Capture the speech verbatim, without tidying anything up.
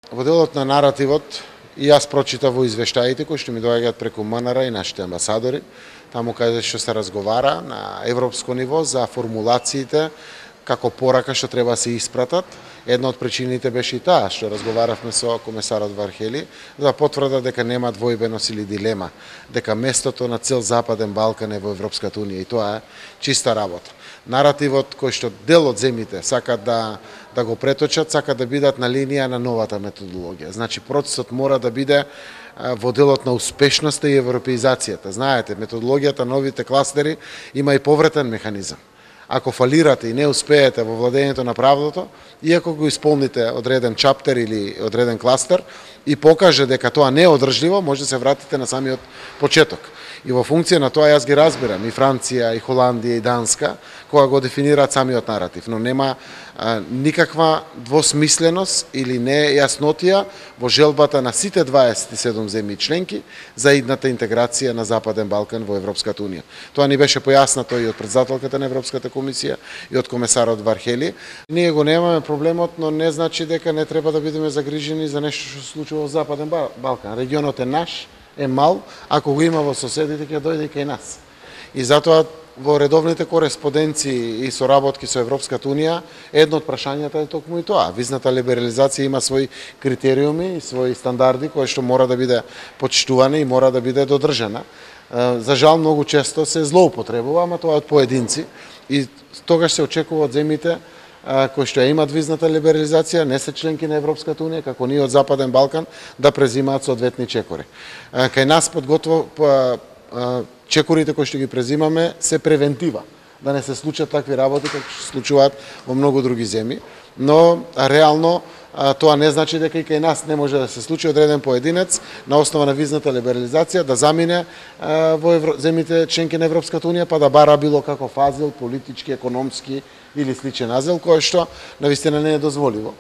Во делот на наративот, и јас прочитав во извештаите кои што ми доаѓаат преку МНР и нашите амбасадори, таму каде што се разговара на европско ниво за формулациите како порака што треба да се испратат. Една од причините беше и таа што разговаравме со комесарот Вархели за потврда дека нема двојбеност или дилема, дека местото на цел Западен Балкан е во Европската унија и тоа е чиста работа. Наративот кој што дел од земјите сакат да да го преточат, сакат да бидат на линија на новата методологија. Значи процесот мора да биде во делот на успешноста и европеизацијата. Знаете, методологијата новите кластери има и повратен механизам. Ако фалирате и не успеете во владењето на правдото, иако го исполните одреден чаптер или одреден кластер и покаже дека тоа не е одржливо, може да се вратите на самиот почеток. И во функција на тоа јас ги разбирам и Франција, и Холандија, и Данска, кога го дефинираат самиот наратив, но нема а, никаква двосмисленост или нејаснотија во желбата на сите дваесет и седум земји членки за идната интеграција на Западен Балкан во Европската унија. Тоа ни беше појаснато и од председателката на Европската комисија и од комесарот Вархели. Ние го немаме проблемот, но не значи дека не треба да бидеме загрижени за нешто што се случува во Западен Балкан. Регионот е наш, е мал, ако го има во соседите, ќе дојде и кај нас. И затоа во редовните кореспонденции и соработки со Европската унија, едно од прашањата е токму и тоа. Визната либерализација има своји критериуми и своји стандарди кои што мора да биде почитувана и мора да биде додржана. За жал многу често се злоупотребува, ама тоа е од поединци и тогаш се очекува од земјите кои што ја имат визната либерализација, не се членки на Европската унија, како ние од Западен Балкан, да презимаат соодветни чекори. Кај нас подготво чекорите кои што ги презимаме се превентива, да не се случат такви работи како што се случуваат во многу други земји, но реално тоа не значи дека и кај нас не може да се случи одреден поединец на основа на визната либерализација да замине во земјите членки на Европската унија па да бара било каков азил, политички, економски или сличен азил, кој што навистина не е дозволиво.